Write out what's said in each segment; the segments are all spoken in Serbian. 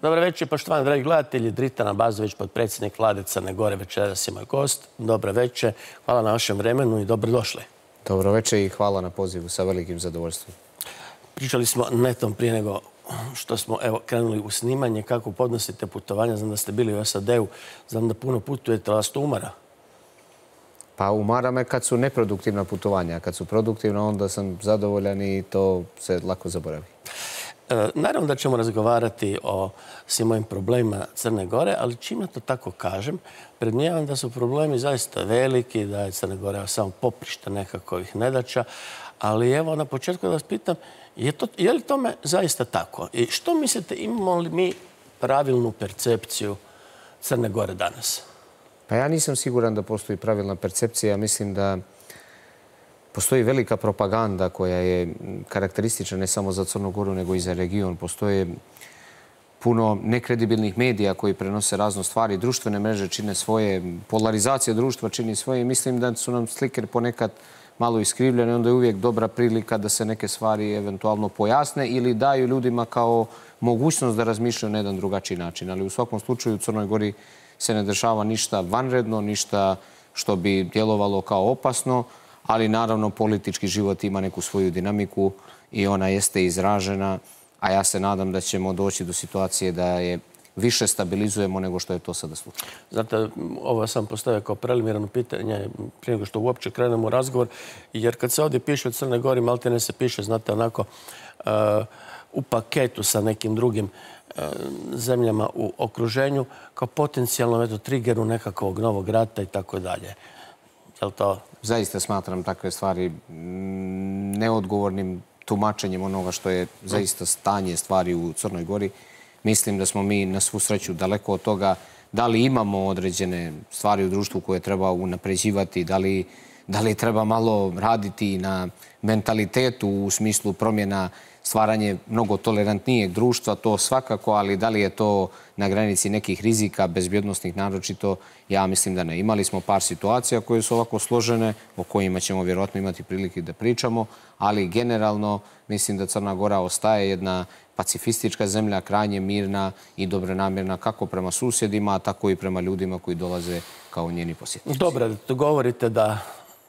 Dobro večer, poštovani dragi gledatelji. Dritan Abazović, potpredsjednik vlade Crne Gore, večeras je moj gost. Dobro večer, hvala na vašem vremenu i dobrodošli. Dobro večer i hvala na pozivu, sa velikim zadovoljstvom. Pričali smo netom prije nego što smo krenuli u snimanje. Kako podnosite putovanja? Znam da ste bili u SAD-u, znam da puno putujete, ali vas to umara? Pa umara me kad su neproduktivna putovanja. Kad su produktivna, onda sam zadovoljan i to se lako zaboravi. Naravno da ćemo razgovarati o svim mojim problemima Crne Gore, ali čim ja to tako kažem, predmnijevam da su problemi zaista veliki, da je Crna Gora samo poprište nekakvih nedaća, ali evo na početku da vas pitam, je li tome zaista tako? I što mislite, imamo li mi pravilnu percepciju Crne Gore danas? Pa ja nisam siguran da postoji pravilna percepcija. Mislim da postoji velika propaganda koja je karakteristična ne samo za Crnu Goru, nego i za region. Postoje puno nekredibilnih medija koji prenose razne stvari. Društvene mreže čine svoje, polarizacija društva čini svoje i mislim da su nam slike ponekad malo iskrivljene. Onda je uvijek dobra prilika da se neke stvari eventualno pojasne ili daju ljudima kao mogućnost da razmišljaju na jedan drugačiji način. Ali u svakom slučaju u Crnoj Gori se ne dešava ništa vanredno, ništa što bi djelovalo kao opasno, ali naravno politički život ima neku svoju dinamiku i ona jeste izražena, a ja se nadam da ćemo doći do situacije da je više stabilizujemo nego što je to sada slučaj. Znate, ovo sam postavio kao preliminarno pitanje prije nego što uopće krenemo u razgovor, jer kad se ovdje piše o Crnoj Gori, maltene se piše, znate, onako u paketu sa nekim drugim zemljama u okruženju, kao potencijalno triggeru nekakvog novog rata i tako dalje. Je li to? Zaista smatram takve stvari neodgovornim tumačenjem onoga što je zaista stanje stvari u Crnoj Gori. Mislim da smo mi na svu sreću daleko od toga da li imamo određene stvari u društvu koje treba unapređivati, da li treba malo raditi na mentalitetu u smislu promjena, stvaranje mnogo tolerantnijeg društva, to svakako, ali da li je to na granici nekih rizika, bezbjednostnih naročito, ja mislim da ne. Imali smo par situacija koje su ovako složene, o kojima ćemo vjerojatno imati prilike da pričamo, ali generalno mislim da Crna Gora ostaje jedna pacifistička zemlja, krajnje mirna i dobronamjerna kako prema susjedima, tako i prema ljudima koji dolaze kao njeni posjetnici. Dobro, govorite da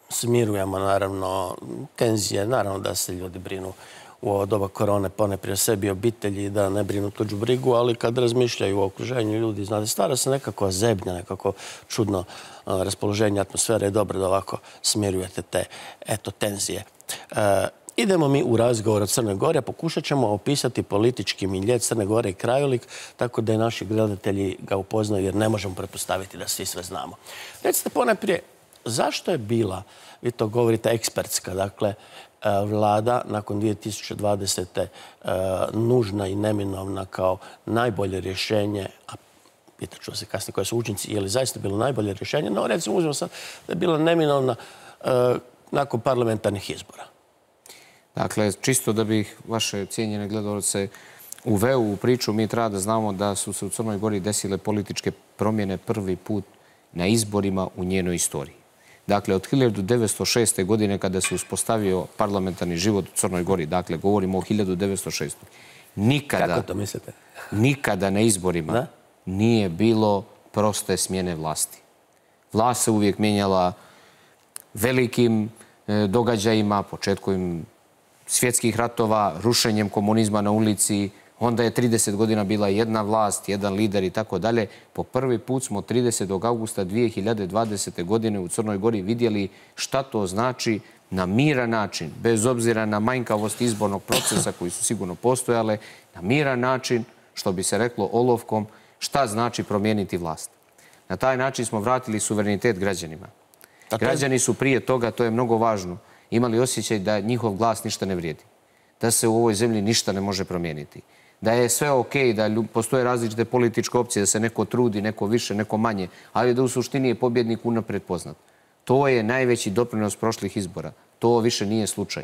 smirujemo, naravno, tenzije, naravno da se ljudi brinu u ovo doba korone, ponajprije sebi, obitelji, da ne brinu tuđu brigu, ali kad razmišljaju o okruženju ljudi, znate, stvara se nekako zebnja, nekako čudno raspoloženje atmosfere. Je dobro da ovako smirujete te, tenzije. Idemo mi u razgovor o Crnoj Gori, a pokušat ćemo opisati politički milje Crne Gore i krajolik, tako da i naši gledatelji ga upoznaju, jer ne možemo pretpostaviti da svi sve znamo. Recite ponajprije, zašto je bila, vi to govorite, ekspertska, dakle, vlada nakon 2020. nužna i neminovna kao najbolje rješenje, a pitat ću se kasnije koje su učinci, je li zaista bilo najbolje rješenje, no recimo uzmemo sad da je bila neminovna nakon parlamentarnih izbora. Dakle, čisto da bih vaše cijenjene gledalce uveo u priču, mi treba da znamo da su se u Crnoj Gori desile političke promjene prvi put na izborima u njenoj istoriji. Dakle, od 1906. godine kada se uspostavio parlamentarni život u Crnoj Gori, dakle, govorimo o 1906. Nikada na izborima nije bilo proste smjene vlasti. Vlast se uvijek mijenjala velikim događajima, početkom svjetskih ratova, rušenjem komunizma na ulici. Onda je 30 godina bila jedna vlast, jedan lider i tako dalje. Po prvi put smo 30. augusta 2020. godine u Crnoj Gori vidjeli šta to znači na miran način, bez obzira na manjkavost izbornog procesa koji su sigurno postojale, na miran način, što bi se reklo olovkom, šta znači promijeniti vlast. Na taj način smo vratili suverenitet građanima. Građani su prije toga, to je mnogo važno, imali osjećaj da njihov glas ništa ne vrijedi, da se u ovoj zemlji ništa ne može promijeniti, da je sve okej, da postoje različite političke opcije, da se neko trudi, neko više, neko manje, ali da u suštini je pobjednik unaprijed poznat. To je najveći doprinos prošlih izbora. To više nije slučaj.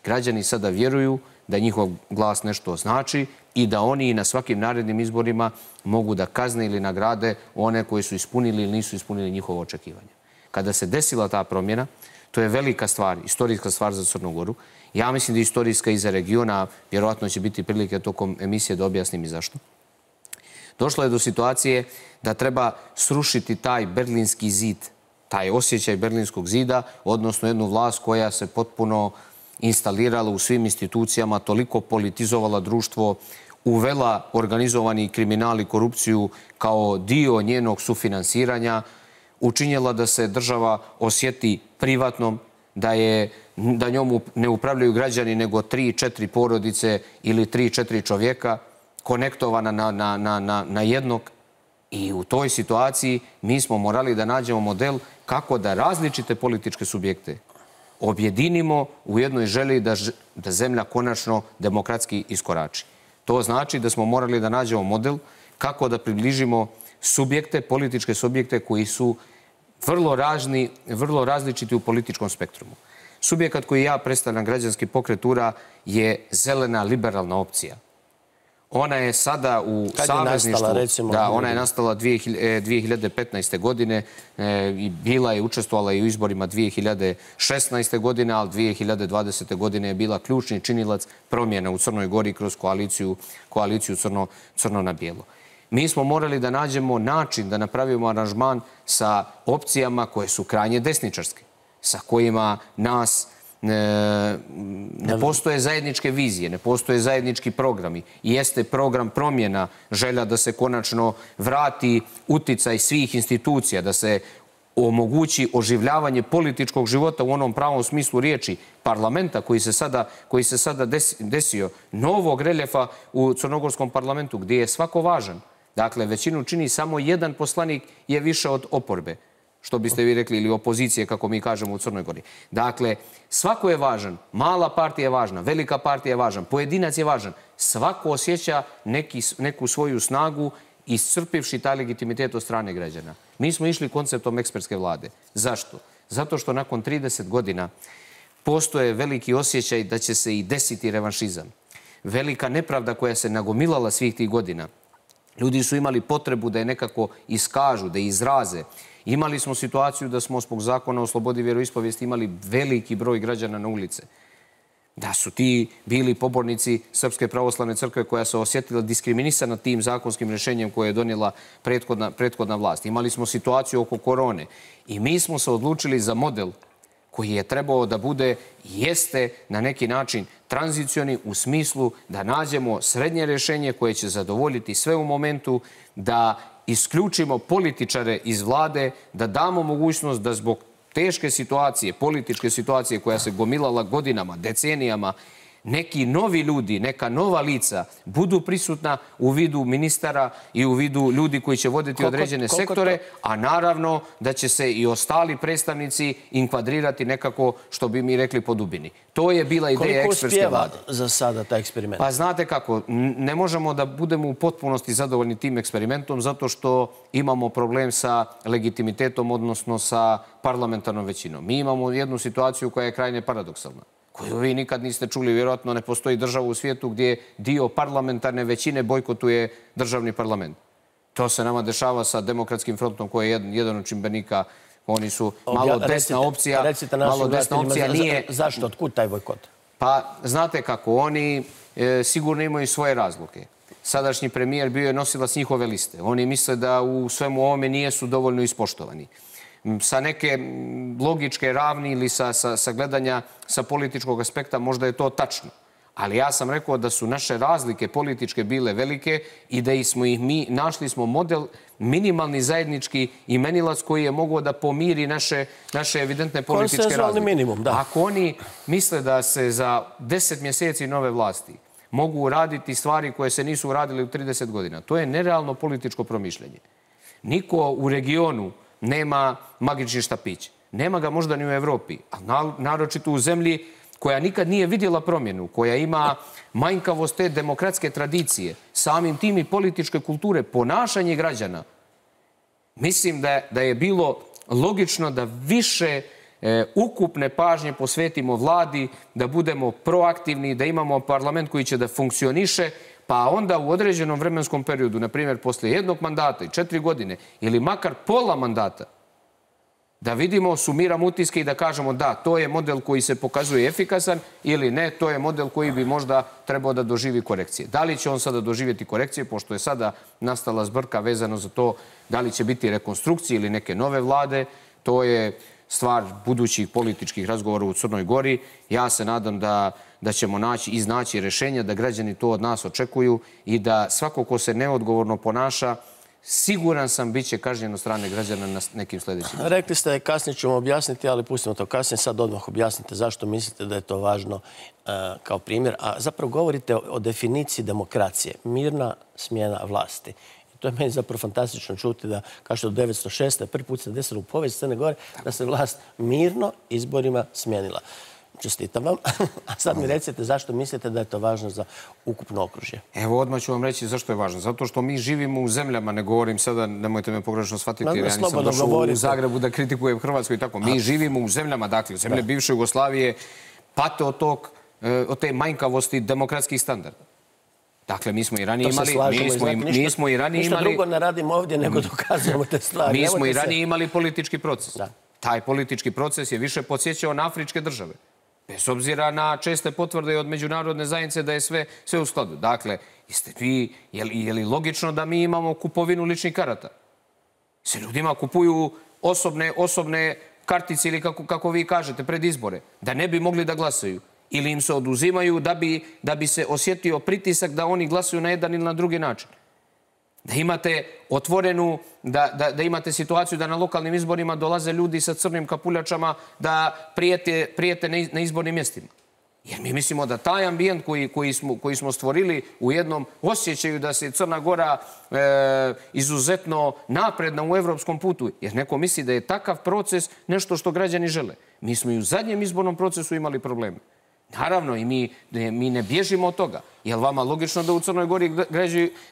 Građani sada vjeruju da njihov glas nešto znači i da oni na svakim narednim izborima mogu da kazne ili nagrade one koji su ispunili ili nisu ispunili njihovo očekivanje. Kada se desila ta promjena, to je velika stvar, istorijska stvar za Crnu Goru. Ja mislim da je istorijska i za regiona, vjerovatno će biti prilike tokom emisije da objasnim i zašto. Došlo je do situacije da treba srušiti taj berlinski zid, taj osjećaj berlinskog zida, odnosno jednu vlast koja se potpuno instalirala u svim institucijama, toliko politizovala društvo, uvela organizovani kriminal i korupciju kao dio njenog sufinansiranja, učinjela da se država osjeti privatnom, da njom ne upravljaju građani nego 3-4 porodice ili 3-4 čovjeka, konektovana na jednog. I u toj situaciji mi smo morali da nađemo model kako da različite političke subjekte objedinimo u jednoj želji da zemlja konačno demokratski iskorači. To znači da smo morali da nađemo model kako da približimo subjekte, političke subjekte koji su vrlo različiti u političkom spektrumu. Subjekat koji ja predstavljam, Građanski pokret URA, je zelena liberalna opcija. Ona je sada u savezništvu. Da, ona je nastala 2015. godine i bila je učestvovala i u izborima 2016. godine, ali 2020. godine je bila ključni činilac promjena u Crnoj Gori kroz koaliciju crno na bijelo. Mi smo morali da nađemo način da napravimo aranžman sa opcijama koje su krajnje desničarske, sa kojima ne postoje zajedničke vizije, ne postoje zajednički programi. Jeste program promjena, želja da se konačno vrati uticaj svih institucija, da se omogući oživljavanje političkog života u onom pravom smislu riječi, parlamenta koji se sada desio, novog reljefa u crnogorskom parlamentu gdje je svako važan. Dakle, većinu čini samo jedan poslanik je više od oporbe, što biste vi rekli, ili opozicije, kako mi kažemo u Crnoj Gori. Dakle, svako je važan, mala partija je važna, velika partija je važan, pojedinac je važan. Svako osjeća neku svoju snagu iscrpivši taj legitimitet od strane građana. Mi smo išli konceptom ekspertske vlade. Zašto? Zato što nakon 30 godina postoje veliki osjećaj da će se i desiti revanšizam. Velika nepravda koja se nagomilala svih tih godina. Ljudi su imali potrebu da je nekako iskažu, da je izraze. Imali smo situaciju da smo zbog zakona o slobodi vjeroispovijesti imali veliki broj građana na ulice. Da su ti bili pobornici Srpske pravoslavne crkve koja se osjetila diskriminisana tim zakonskim rješenjem koje je donijela prethodna vlast. Imali smo situaciju oko korone i mi smo se odlučili za model koji je trebao da bude, jeste na neki način tranzicioni u smislu da nađemo srednje rješenje koje će zadovoljiti sve u momentu, da isključimo političare iz vlade, da damo mogućnost da zbog teške situacije, političke situacije koja se gomilala godinama, decenijama, neki novi ljudi, neka nova lica budu prisutna u vidu ministara i u vidu ljudi koji će voditi određene sektore, a naravno da će se i ostali predstavnici inkvadrirati nekako, što bi mi rekli, po dubini. To je bila ideja ekspertske vlade. Koliko uspijeva za sada taj eksperiment? Pa znate kako, ne možemo da budemo u potpunosti zadovoljni tim eksperimentom zato što imamo problem sa legitimitetom, odnosno sa parlamentarnom većinom. Mi imamo jednu situaciju koja je krajnje paradoksalna, koju vi nikad niste čuli. Vjerojatno ne postoji država u svijetu gdje dio parlamentarne većine bojkotuje državni parlament. To se nama dešava sa Demokratskim frontom koji je jedan od čimbenika. Oni su malo desna opcija. Recite našim gledateljima zašto, otkud taj bojkot? Pa znate kako, oni sigurno imaju svoje razloge. Sadašnji premijer bio je nosilac njihove liste. Oni misle da u svemu ovome nijesu dovoljno ispoštovani. Sa neke logičke ravni ili sa gledanja sa političkog aspekta možda je to tačno. Ali ja sam rekao da su naše razlike političke bile velike i da smo ih mi, našli smo model, minimalni zajednički imenilac koji je mogao da pomiri naše evidentne političke razlike. Minimum, da. Ako oni misle da se za 10 mjeseci nove vlasti mogu uraditi stvari koje se nisu uradili u 30 godina, to je nerealno političko promišljanje. Niko u regionu nema magični štapić. Nema ga možda ni u Evropi, ali naročito u zemlji koja nikad nije vidjela promjenu, koja ima manjkavost te demokratske tradicije, samim tim i političke kulture, ponašanje građana. Mislim da je bilo logično da više ukupne pažnje posvetimo vladi, da budemo proaktivni, da imamo parlament koji će da funkcioniše, pa onda u određenom vremenskom periodu, na primjer, poslije jednog mandata i 4 godine, ili makar pola mandata, Da vidimo, sumiramo utiske i da kažemo da, to je model koji se pokazuje efikasan ili ne, to je model koji bi možda trebao da doživi korekcije. Da li će on sada doživjeti korekcije, pošto je sada nastala zbrka vezano za to da li će biti rekonstrukcije ili neke nove vlade, to je stvar budućih političkih razgovora u Crnoj Gori. Ja se nadam da ćemo iznaći rješenja, da građani to od nas očekuju i da svako ko se neodgovorno ponaša, siguran sam, bit će kažnjen od strane građana na nekim sljedećim. Rekli ste, kasnije ćemo objasniti, ali pustimo to kasnije. Sad odmah objasnite zašto mislite da je to važno kao primjer. A zapravo govorite o definiciji demokracije. Mirna smjena vlasti. I to je meni zapravo fantastično čuti da, kao što od 1906. prvi put se desilo u povijesti Crne Gore, da se vlast mirno izborima smijenila. Čestitam vam. A sad mi recite zašto mislite da je to važno za ukupno okružje. Evo, odmah ću vam reći zašto je važno. Zato što mi živimo u zemljama, ne govorim sada, nemojte me pogrešno shvatiti, jer ja nisam došao u Zagrebu da kritikujem Hrvatsku i tako. Mi živimo u zemljama, dakle, u zemlje bivše Jugoslavije, pate od te manjkavosti demokratskih standarda. Dakle, mi smo i ranije imali... Ništa drugo ne radimo ovdje nego dokazujemo te stvari. Mi smo i ranije imali politički proces. Taj politički proces je više podsjećao na afričke države. Bez obzira na česte potvrde od međunarodne zajednice da je sve u skladu. Dakle, je li logično da mi imamo kupovinu ličnih karata? Se ljudima kupuju osobne kartice ili kako vi kažete pred izbore, da ne bi mogli da glasaju. Ili im se oduzimaju da bi se osjetio pritisak da oni glasuju na jedan ili na drugi način. Da imate otvorenu, da imate situaciju da na lokalnim izborima dolaze ljudi sa crnim kapuljačama da prijete na izbornim mjestima. Jer mi mislimo da taj ambijent koji smo stvorili u jednom osjećaju da se Crna Gora izuzetno napredna u evropskom putu, jer neko misli da je takav proces nešto što građani žele. Mi smo i u zadnjem izbornom procesu imali probleme. Naravno, i mi ne bježimo od toga. Je li vama logično da u Crnoj Gori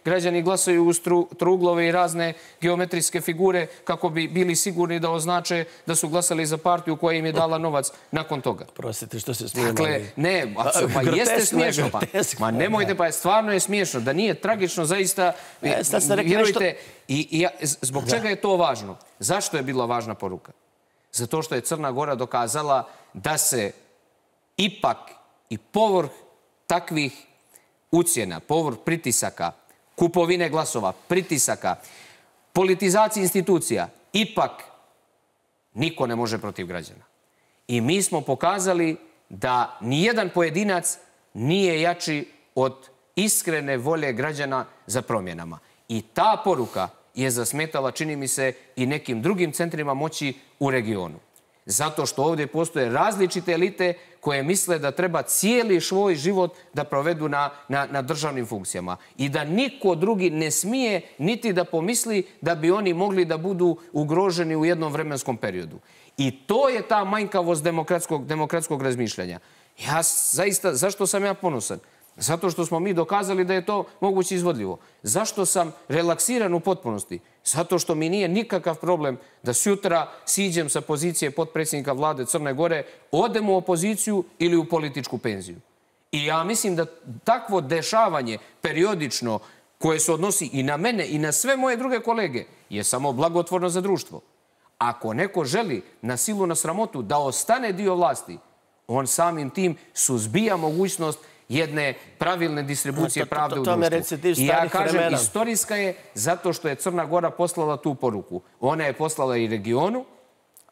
građani glasaju uz trouglove i razne geometrijske figure kako bi bili sigurni da označe da su glasali za partiju koja im je dala novac nakon toga? Prostite, što se smijemo. Dakle, ne, pa jeste smiješno. Ma nemojte, pa stvarno je smiješno. Da nije tragično, zaista, vjerujte. I zbog čega je to važno? Zašto je bila važna poruka? Zato što je Crna Gora dokazala da se ipak i povrh takvih ucjena, povrh pritisaka, kupovine glasova, pritisaka, politizacije institucija, ipak niko ne može protiv građana. I mi smo pokazali da nijedan pojedinac nije jači od iskrene volje građana za promjenama. I ta poruka je zasmetala, čini mi se, i nekim drugim centrima moći u regionu. Zato što ovdje postoje različite elite koje misle da treba cijeli svoj život da provedu na državnim funkcijama. I da niko drugi ne smije niti da pomisli da bi oni mogli da budu ugroženi u jednom vremenskom periodu. I to je ta manjkavost demokratskog razmišljanja. Ja zaista, zašto sam ja ponosan? Zato što smo mi dokazali da je to moguće izvodljivo. Zašto sam relaksiran u potpunosti? Zato što mi nije nikakav problem da sutra siđem sa pozicije potpredsjednika vlade Crne Gore, odem u opoziciju ili u političku penziju. I ja mislim da takvo dešavanje periodično koje se odnosi i na mene i na sve moje druge kolege je samo blagotvorno za društvo. Ako neko želi na silu, na sramotu da ostane dio vlasti, on samim tim suzbija mogućnost jedne pravilne distribucije pravde u društvu. I ja kažem, istorijska je zato što je Crna Gora poslala tu poruku. Ona je poslala i regionu,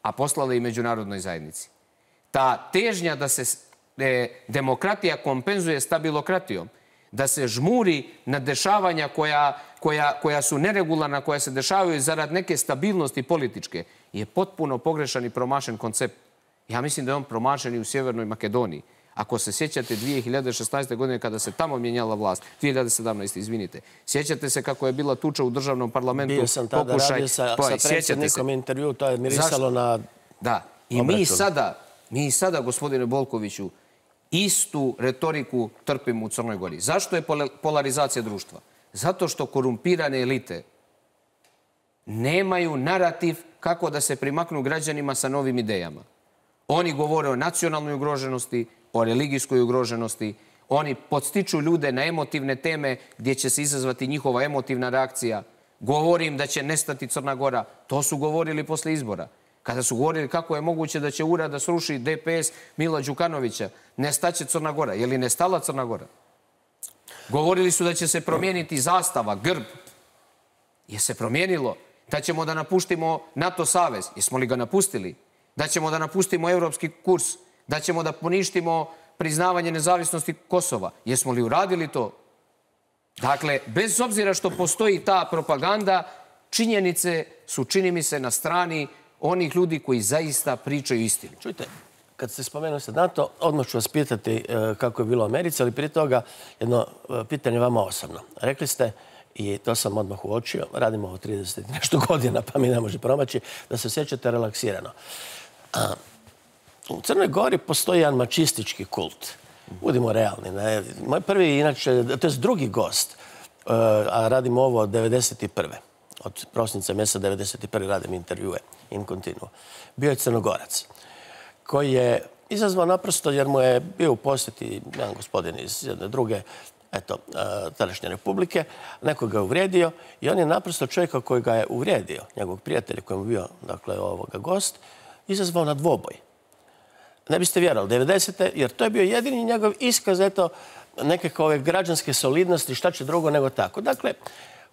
a poslala i međunarodnoj zajednici. Ta težnja da se demokratija kompenzuje stabilokratijom, da se žmuri na dešavanja koja su neregularna, koja se dešavaju zarad neke stabilnosti političke, je potpuno pogrešan i promašen koncept. Ja mislim da je on promašen i u Sjevernoj Makedoniji. Ako se sjećate 2016. godine kada se tamo mijenjala vlast, 2017. izvinite, sjećate se kako je bila tuča u državnom parlamentu. Bio sam tada radio sa predsjednikom intervju, to je mirisalo na... Da, i mi sada, gospodine Bolkoviću, istu retoriku trpimo u Crnoj Gori. Zašto je polarizacija društva? Zato što korumpirane elite nemaju narativ kako da se primaknu građanima sa novim idejama. Oni govore o nacionalnoj ugroženosti, o religijskoj ugroženosti. Oni podstiču ljude na emotivne teme gdje će se izazvati njihova emotivna reakcija. Govorim da će nestati Crna Gora. To su govorili posle izbora. Kada su govorili kako je moguće da će URA da sruši DPS Mila Đukanovića, nestaće Crna Gora. Je li nestala Crna Gora? Govorili su da će se promijeniti zastava, grb. Je se promijenilo? Da ćemo da napustimo NATO savez. Jesmo li ga napustili? Da ćemo da napustimo evropski kurs? Da ćemo da poništimo priznavanje nezavisnosti Kosova? Jesmo li uradili to? Dakle, bez obzira što postoji ta propaganda, činjenice su, čini mi se, na strani onih ljudi koji zaista pričaju istinu. Čujte, kad ste spomenuli se NATO, odmah ću vas pitati kako je bilo u Americi, ali prije toga jedno pitanje vama osobno. Rekli ste, i to sam odmah uočio, radimo ovo 30 nešto godina, pa mi ne može promaći, da se osjećate relaksirano. U Crnoj Gori postoji jedan mačistički kult. Budimo realni. Ne? Moj prvi, inače, to je drugi gost, a radimo ovo od 91. Od prosinca mjeseca 91. radim intervjue in continuo. Bio je Crnogorac, koji je izazvao naprosto jer mu je bio u posjeti jedan gospodin iz jedne druge tadašnje republike, nekog ga je uvrijedio i on je naprosto čovjeka koji ga je uvrijedio, njegovog prijatelja koji je bio, dakle, ovoga gost, izazvao na dvoboj. Ne biste vjerovali, 90. jer to je bio jedini njegov iskaz, nekakve ove građanske solidnosti, šta će drugo nego tako. Dakle,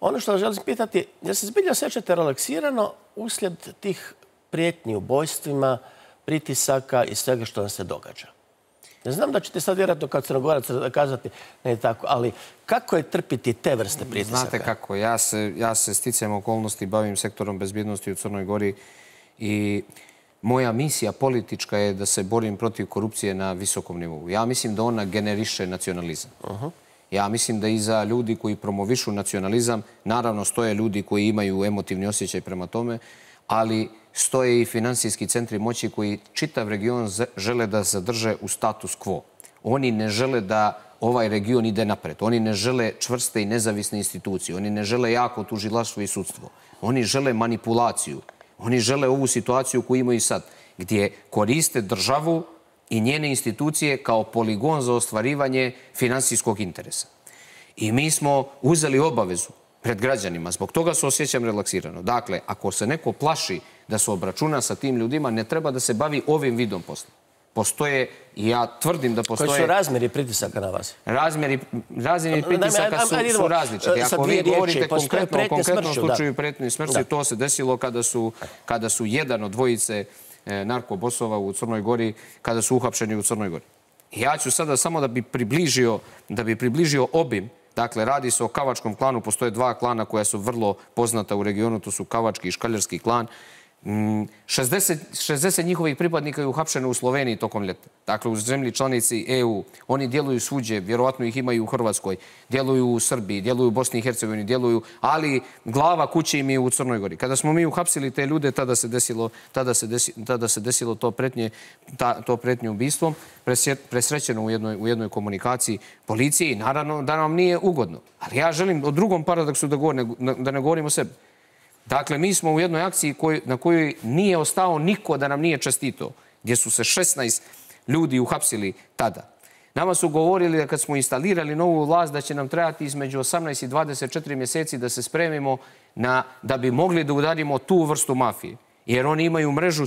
ono što želim pitati, jel se zbilja osjećate relaksirano uslijed tih prijetnji ubojstvima, pritisaka i svega što vam se događa? Ne znam da ćete sad vjerojatno kao Crnogorac kazati ne tako, ali kako je trpiti te vrste pritisaka? Znate kako, ja se sticajem okolnosti bavim sektorom bezbjednosti u Crnoj Gori i moja misija politička je da se borim protiv korupcije na visokom nivou. Ja mislim da ona generiše nacionalizam. Ja mislim da iza ljudi koji promovišu nacionalizam, naravno stoje ljudi koji imaju emotivni osjećaj prema tome, ali stoje i finansijski centri moći koji čitav region žele da zadrže u status quo. Oni ne žele da ovaj region ide napred. Oni ne žele čvrste i nezavisne institucije. Oni ne žele jako tužilaštvo i sudstvo. Oni žele manipulaciju. Oni žele ovu situaciju koju imaju sad, gdje koriste državu i njene institucije kao poligon za ostvarivanje finansijskog interesa. I mi smo uzeli obavezu pred građanima. Zbog toga se osjećam relaksirano. Dakle, ako se neko plaši da se obračuna sa tim ljudima, ne treba da se bavi ovim vidom posla. Postoje, i ja tvrdim da postoje... Koji su razmjeri pritisaka na vas? Razmjeri pritisaka su različiti. Ako vi govorite konkretno o konkretnom slučaju pretnje i smrću, to se desilo kada su jedan od dvojice narkobosova u Crnoj Gori, kada su uhapšeni u Crnoj Gori. Ja ću sada samo da bi približio obim. Dakle, radi se o Kavačkom klanu. Postoje dva klana koja su vrlo poznata u regionu. To su Kavački i Škaljarski klan. 60 njihovih pripadnika je uhapšeno u Sloveniji tokom ljeta. Dakle, u zemlji članici EU. Oni djeluju svuđe, vjerovatno ih imaju u Hrvatskoj, djeluju u Srbiji, djeluju u Bosni i Hercegovini, djeluju, ali glava kuće im je u Crnoj Gori. Kada smo mi uhapsili te ljude, tada se desilo to pretnje ubistvom, presrećeno u jednoj komunikaciji policije i naravno da nam nije ugodno. Ali ja želim o drugom paradoksu da ne govorim o sebi. Dakle, mi smo u jednoj akciji na kojoj nije ostao niko da nam nije čestito, gdje su se 16 ljudi uhapsili tada. Nama su govorili da kad smo instalirali novu vlast da će nam trebati između 18 i 24 mjeseci da se spremimo da bi mogli da udarimo tu vrstu mafije. Jer oni imaju mrežu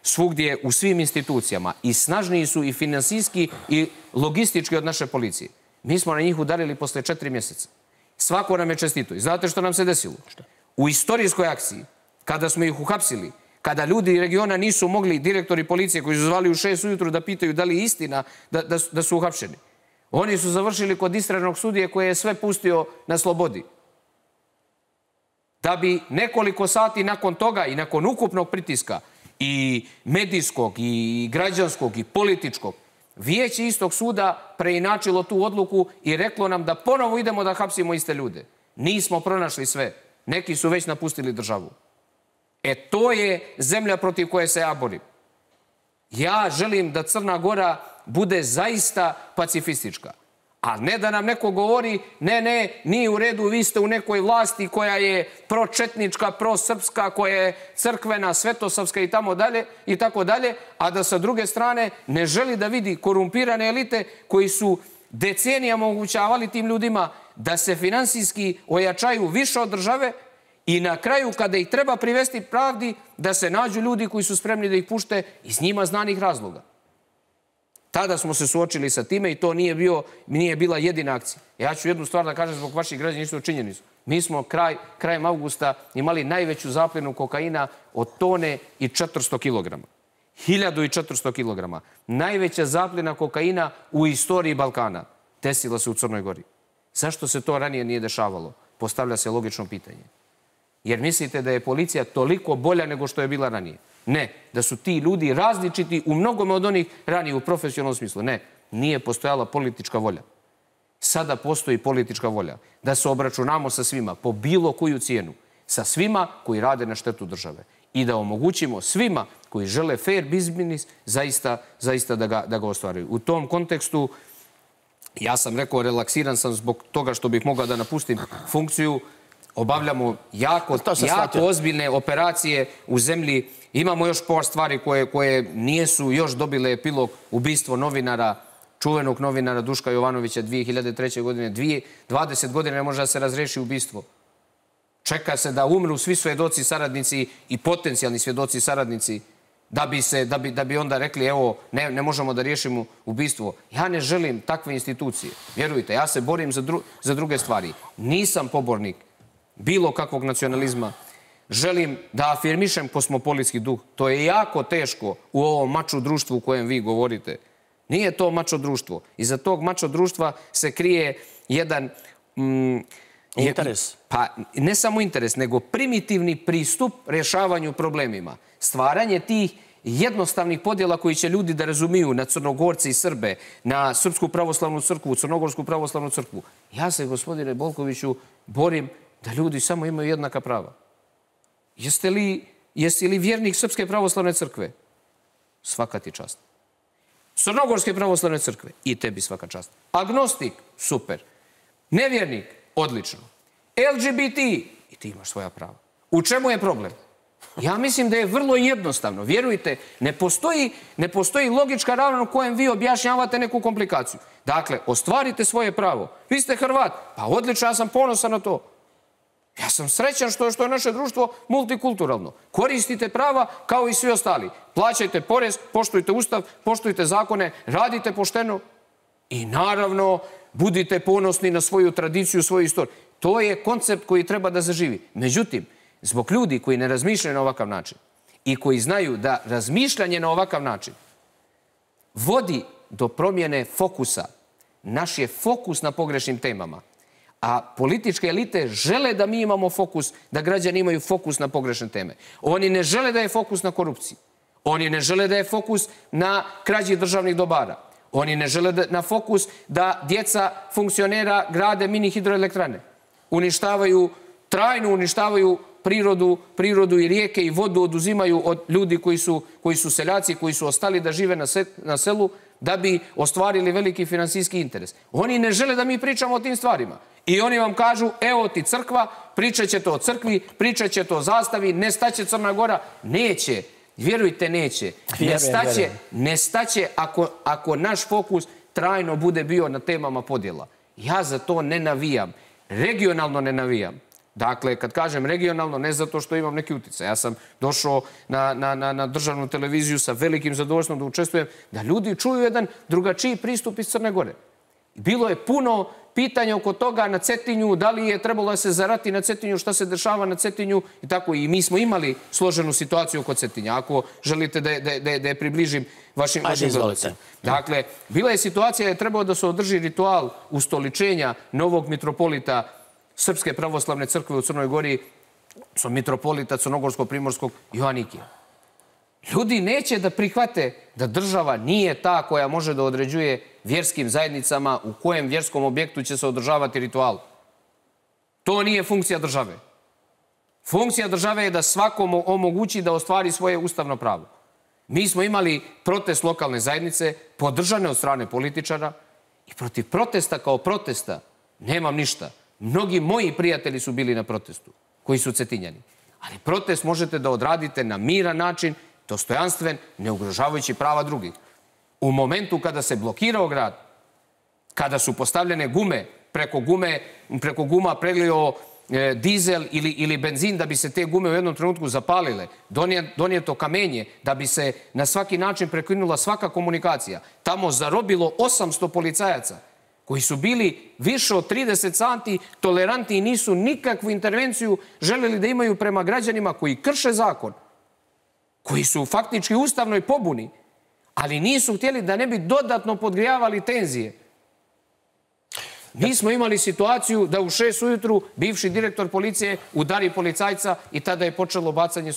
svugdje u svim institucijama i snažniji su i finansijski i logistički od naše policije. Mi smo na njih udarili posle 4 mjeseca. Svako nam je čestito. I znate što nam se desilo? U istorijskoj akciji, kada smo ih uhapsili, kada ljudi regiona nisu mogli, direktori policije koji su zvali u 6 ujutru da pitaju da li je istina da su uhapšeni, oni su završili kod istražnog sudije koje je sve pustio na slobodi. Da bi nekoliko sati nakon toga i nakon ukupnog pritiska i medijskog i građanskog i političkog, vijeće istog suda preinačilo tu odluku i reklo nam da ponovo idemo da hapsimo iste ljude. Nismo pronašli sve. Neki su već napustili državu. To je zemlja protiv koje se ja borim. Ja želim da Crna Gora bude zaista pacifistička. A ne da nam neko govori, ne, nije u redu, vi ste u nekoj vlasti koja je pročetnička, prosrpska, koja je crkvena, svetosavska i tako dalje, a da sa druge strane ne želi da vidi korumpirane elite koji su decenijama omogućavali tim ljudima da se finansijski ojačaju više od države I na kraju, kada ih treba privesti pravdi, da se nađu ljudi koji su spremni da ih pušte iz njima znanih razloga. Tada smo se suočili sa time i to nije bila jedina akcija. Ja ću jednu stvar da kažem zbog vaših građana, isto činjenicu. Mi smo krajem avgusta imali najveću zapljenu kokaina od tone i 400 kilograma. 1400 kilograma. Najveća zapljena kokaina u istoriji Balkana desila se u Crnoj Gori. Zašto se to ranije nije dešavalo? Postavlja se logično pitanje. Jer mislite da je policija toliko bolja nego što je bila ranije? Ne. Da su ti ljudi različiti u mnogome od onih ranije u profesionalnom smislu? Ne. Nije postojala politička volja. Sada postoji politička volja. Da se obračunamo sa svima, po bilo koju cijenu. Sa svima koji rade na štetu države. I da omogućimo svima koji žele fair biznis zaista da ga ostvaruju. U tom kontekstu, ja sam rekao, relaksiran sam zbog toga što bih mogao da napustim funkciju. Obavljamo jako ozbiljne operacije u zemlji. Imamo još par stvari koje nisu još dobile epilog. Ubistvo novinara, čuvenog novinara Duška Jovanovića 2003. godine. 20 godina ne može da se razreši ubistvo. Čeka se da umru svi svjedoci saradnici i potencijalni svjedoci saradnici da bi onda rekli evo ne možemo da riješimo ubistvo. Ja ne želim takve institucije. Vjerujte, ja se borim za druge stvari. Nisam pobornik bilo kakvog nacionalizma. Želim da afirmišem kosmopolitski duh. To je jako teško u ovom mačo društvu u kojem vi govorite. Nije to mačo društvo. Iza tog mačo društva se krije jedan... Interes. Pa ne samo interes, nego primitivni pristup rješavanju problemima. Stvaranje tih jednostavnih podjela koji će ljudi da razumiju na Crnogorce i Srbe, na Srpsku pravoslavnu crkvu, Crnogorsku pravoslavnu crkvu. Ja se, gospodine Bolkoviću, borim da ljudi samo imaju jednaka prava. Jesi li vjernik Srpske pravoslavne crkve? Svaka ti čast. Crnogorske pravoslavne crkve? I tebi svaka čast. Agnostik? Super. Nevjernik? Odlično. LGBT? I ti imaš svoja prava. U čemu je problem? Ja mislim da je vrlo jednostavno. Vjerujte, ne postoji logička ravna u kojem vi objašnjavate neku komplikaciju. Dakle, ostvarite svoje pravo. Vi ste Hrvat. Pa odlično, ja sam ponosan na to. Ja sam srećan što je naše društvo multikulturalno. Koristite prava kao i svi ostali. Plaćajte porez, poštujte ustav, poštujte zakone, radite pošteno i naravno budite ponosni na svoju tradiciju, svoju istoriju. To je koncept koji treba da zaživi. Međutim, zbog ljudi koji ne razmišljaju na ovakav način i koji znaju da razmišljanje na ovakav način vodi do promjene fokusa, naš je fokus na pogrešnim temama, a političke elite žele da mi imamo fokus, da građani imaju fokus na pogrešne teme. Oni ne žele da je fokus na korupciji. Oni ne žele da je fokus na krađi državnih dobara. Oni ne žele na fokus da djeca funkcionera grade mini hidroelektrane. Trajno uništavaju prirodu i rijeke i vodu oduzimaju od ljudi koji su seljaci, koji su ostali da žive na selu da bi ostvarili veliki finansijski interes. Oni ne žele da mi pričamo o tim stvarima. I oni vam kažu, evo ti crkva, pričat ćete o crkvi, pričat ćete o zastavi, nestaće Crna Gora. Neće. Vjerujte, neće. Nestaće ako naš fokus trajno bude bio na temama podjela. Ja za to ne navijam. Regionalno ne navijam. Dakle, kad kažem regionalno, ne zato što imam neki utjecaj. Ja sam došao na državnu televiziju sa velikim zadovoljstvom da učestvujem, da ljudi čuju jedan drugačiji pristup iz Crne Gore. Bilo je puno pitanja oko toga na Cetinju, da li je trebalo da se zarati na Cetinju, šta se dešava na Cetinju i tako. I mi smo imali složenu situaciju oko Cetinja, ako želite da je približim vašim gledalcima. Dakle, bila je situacija da je trebalo da se održi ritual ustoličenja novog mitropolita Srpske pravoslavne crkve u Crnoj Gori, mitropolita Crnogorsko-Primorskog Joanikija. Ljudi neće da prihvate da država nije ta koja može da određuje vjerskim zajednicama u kojem vjerskom objektu će se održavati ritual. To nije funkcija države. Funkcija države je da svakom omogući da ostvari svoje ustavno pravo. Mi smo imali protest lokalne zajednice, podržane od strane političara, i protiv protesta kao protesta nemam ništa. Mnogi moji prijatelji su bili na protestu, koji su Cetinjani. Ali protest možete da odradite na miran način, dostojanstven, ne ugrožavajući prava drugih. U momentu kada se blokirao grad, kada su postavljene gume, preko guma prelio dizel ili benzin da bi se te gume u jednom trenutku zapalile, donijeto kamenje da bi se na svaki način prekinula svaka komunikacija. Tamo zarobilo 800 policajaca koji su bili više od 30 sati tolerantni i nisu nikakvu intervenciju želeli da imaju prema građanima koji krše zakon, koji su faktički u ustavnoj pobuni, ali nisu htjeli da ne bi dodatno podgrijavali tenzije. Mi smo imali situaciju da u 6 ujutru bivši direktor policije udari policajca i tada je počelo bacanje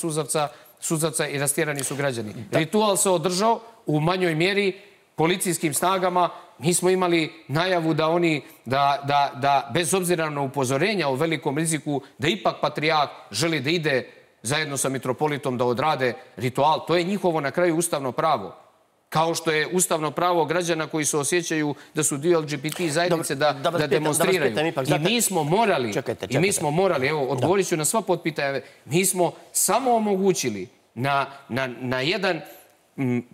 suzavca i rastjerani su građani. Ritual se održao u manjoj mjeri policijskim snagama. Mi smo imali najavu da oni, da bez obzira na upozorenja o velikom riziku, da ipak patrijarh želi da ide zajedno sa mitropolitom da odrade ritual. To je njihovo na kraju ustavno pravo. Kao što je ustavno pravo građana koji se osjećaju da su dio LGBT zajednice da demonstriraju. I mi smo morali, evo, odgovorit ću na sva potpitanja, mi smo samo omogućili na jedan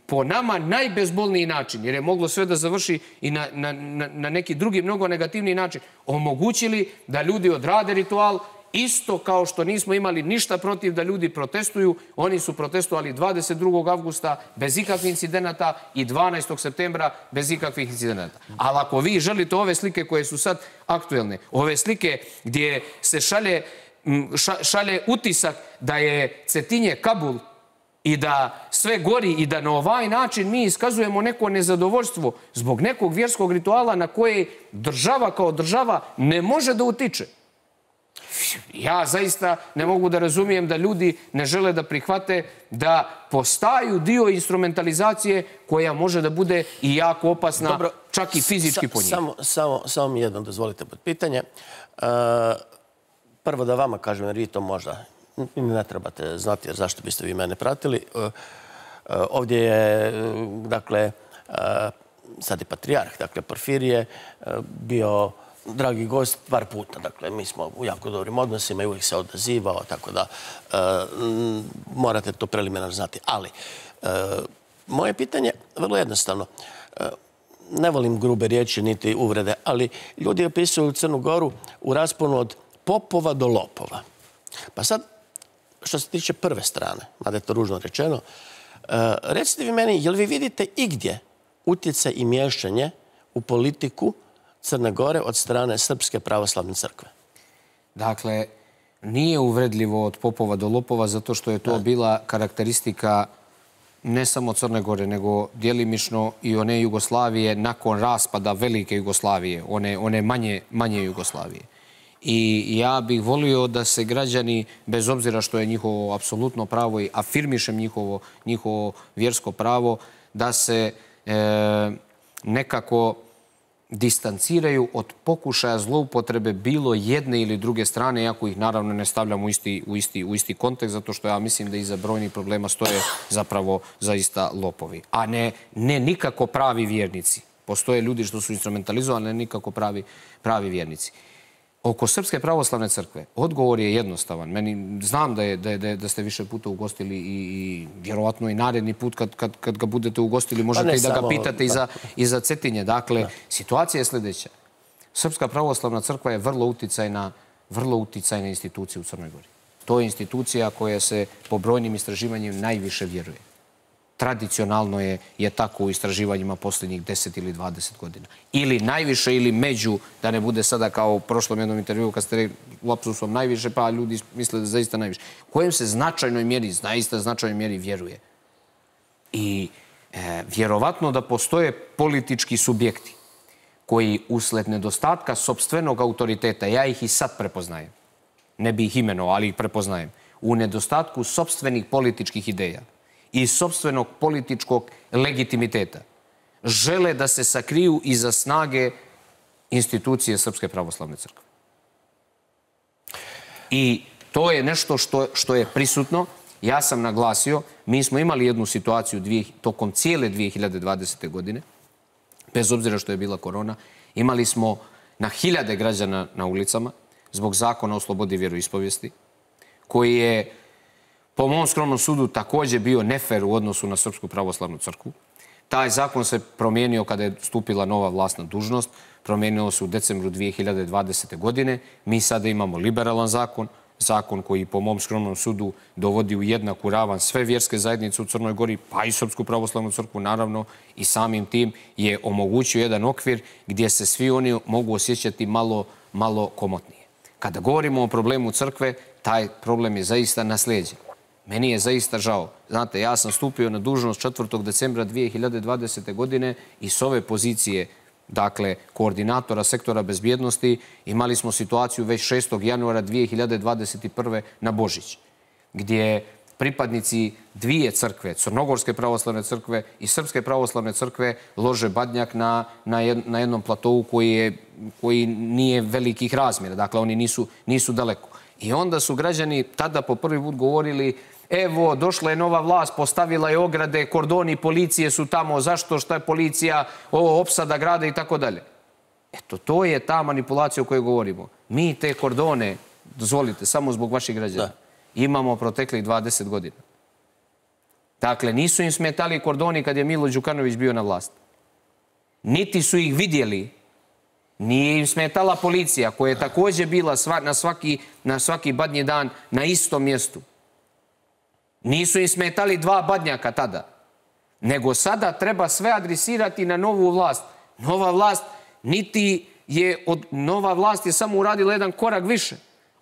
po nama najbezbolniji način, jer je moglo sve da završi i na neki drugi mnogo negativniji način, omogućili da ljudi odrade ritual. Isto kao što nismo imali ništa protiv da ljudi protestuju, oni su protestovali 22. avgusta bez ikakvih incidenata i 12. septembra bez ikakvih incidenata. Ali ako vi želite ove slike koje su sad aktuelne, ove slike gdje se šalje utisak da je Cetinje Kabul i da sve gori i da na ovaj način mi iskazujemo neko nezadovoljstvo zbog nekog vjerskog rituala na koje država kao država ne može da utiče. Ja zaista ne mogu da razumijem da ljudi ne žele da prihvate da postaju dio instrumentalizacije koja može da bude i jako opasna, čak i fizički po njih. Samo mi jedno dozvolite pod pitanje. Prvo da vama kažem, jer vi to možda ne trebate znati, jer zašto biste vi mene pratili. Ovdje je, dakle, sad je patrijarh, dakle, Porfirije, bio dragi gost par puta. Dakle, mi smo u jako dobrim odnosima i uvijek se odazivao, tako da morate to preliminarno znati. Ali, moje pitanje je vrlo jednostavno. Ne volim grube riječi niti uvrede, ali ljudi opisuju Crnu Goru u rasponu od popova do lopova. Pa sad, što se tiče prve strane, mada je to ružno rečeno, recite vi meni, jel vi vidite igdje utjecaj i miješanje u politiku Crne Gore od strane Srpske pravoslavne crkve? Dakle, nije uvredljivo od popova do lopova zato što je to bila karakteristika ne samo Crne Gore, nego djelimično i one Jugoslavije nakon raspada velike Jugoslavije, one manje Jugoslavije. I ja bih volio da se građani, bez obzira što je njihovo apsolutno pravo i afirmišem njihovo vjersko pravo, da se nekako distanciraju od pokušaja zloupotrebe bilo jedne ili druge strane, iako ih naravno ne stavljam u isti kontekst, zato što ja mislim da iza brojnih problema stoje zapravo zaista lopovi. A ne nikako pravi vjernici. Postoje ljudi što su instrumentalizovani, ne nikako pravi vjernici. Oko Srpske pravoslavne crkve odgovor je jednostavan. Znam da ste više puta ugostili i vjerovatno i naredni put kad ga budete ugostili možete i da ga pitate i za Cetinje. Dakle, situacija je sljedeća. Srpska pravoslavna crkva je vrlo uticajna institucija u Crnoj Gori. To je institucija koja se po brojnim istraživanjima najviše vjeruje. Tradicionalno je tako u istraživanjima posljednjih 10 ili 20 godina. Ili najviše ili među, da ne bude sada kao u prošlom jednom intervju kad ste rekli lapsusom najviše, pa ljudi misle da zaista najviše. Kojem se zaista značajnoj mjeri vjeruje. I vjerovatno da postoje politički subjekti koji usled nedostatka sopstvenog autoriteta, ja ih i sad prepoznajem, ne bi ih imenovao, ali ih prepoznajem, u nedostatku sopstvenih političkih ideja i sopstvenog političkog legitimiteta, žele da se sakriju iza snage institucije Srpske pravoslavne crkve. I to je nešto što je prisutno. Ja sam naglasio, mi smo imali jednu situaciju tokom cijele 2020. godine, bez obzira što je bila korona, imali smo na hiljade građana na ulicama zbog zakona o slobodi vjeroispovijesti, koji je po mom skromnom sudu također bio nefer u odnosu na Srpsku pravoslavnu crkvu. Taj zakon se promijenio kada je stupila nova vlast na dužnost. Promijenilo se u decembru 2020. godine. Mi sada imamo liberalan zakon, zakon koji po mom skromnom sudu dovodi u jednaku ravan sve vjerske zajednice u Crnoj Gori, pa i Srpsku pravoslavnu crkvu, naravno, i samim tim je omogućio jedan okvir gdje se svi oni mogu osjećati malo komotnije. Kada govorimo o problemu crkve, taj problem je zaista naslijeđen. Meni je zaista žao. Znate, ja sam stupio na dužnost 4. decembra 2020. godine i s ove pozicije, dakle, koordinatora sektora bezbjednosti, imali smo situaciju već 6. januara 2021. na Božić, gdje pripadnici dvije crkve, Crnogorske pravoslavne crkve i Srpske pravoslavne crkve, lože badnjak na jednom platovu koji nije velikih razmjera. Dakle, oni nisu daleko. I onda su građani tada po prvi put govorili: evo, došla je nova vlast, postavila je ograde, kordoni policije su tamo, zašto, šta je policija, ovo, opsada grada i tako dalje. Eto, to je ta manipulacija o kojoj govorimo. Mi te kordone, dozvolite, samo zbog vaših građana, imamo proteklih 20 godina. Dakle, nisu im smetali kordoni kad je Milo Đukanović bio na vlast. Niti su ih vidjeli. Nije im smetala policija, koja je također bila na svaki badnji dan na istom mjestu. Nisu im smetali dva badnjaka tada. Nego sada treba sve adresirati na novu vlast. Nova vlast je samo uradila jedan korak više.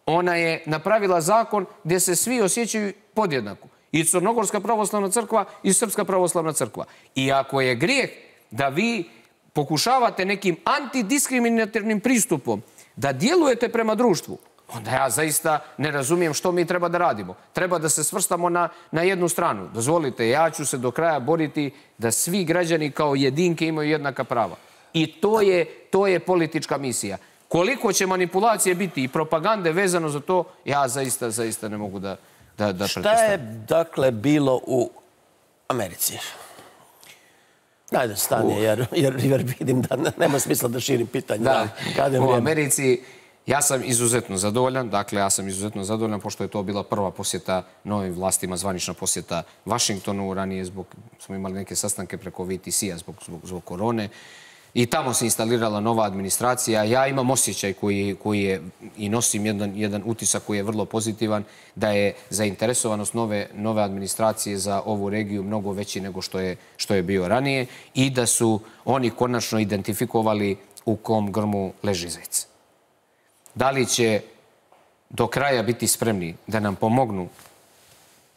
Ona je napravila zakon gdje se svi osjećaju podjednako. I Crnogorska pravoslavna crkva i Srpska pravoslavna crkva. I ako je grijeh da vi pokušavate nekim antidiskriminatornim pristupom da djelujete prema društvu, onda ja zaista ne razumijem što mi treba da radimo. Treba da se svrstamo na jednu stranu. Dozvolite, ja ću se do kraja boriti da svi građani kao jedinke imaju jednaka prava. I to je politička misija. Koliko će manipulacije biti i propagande vezano za to, ja zaista ne mogu da pretpostavim. Šta je, dakle, bilo u Americi? Ajde, stani, jer vidim da nema smisla da širim pitanje. U Americi ja sam izuzetno zadovoljan. Dakle, ja sam izuzetno zadovoljan pošto je to bila prva posjeta novim vlastima, zvanična posjeta Vašingtonu. Ranije smo imali neke sastanke preko VTC-a zbog korone. I tamo se instalirala nova administracija. Ja imam osjećaj koji je i nosim jedan utisak koji je vrlo pozitivan, da je zainteresovanost nove administracije za ovu regiju mnogo veći nego što je bio ranije i da su oni konačno identifikovali u kom grmu leži zec. Da li će do kraja biti spremni da nam pomognu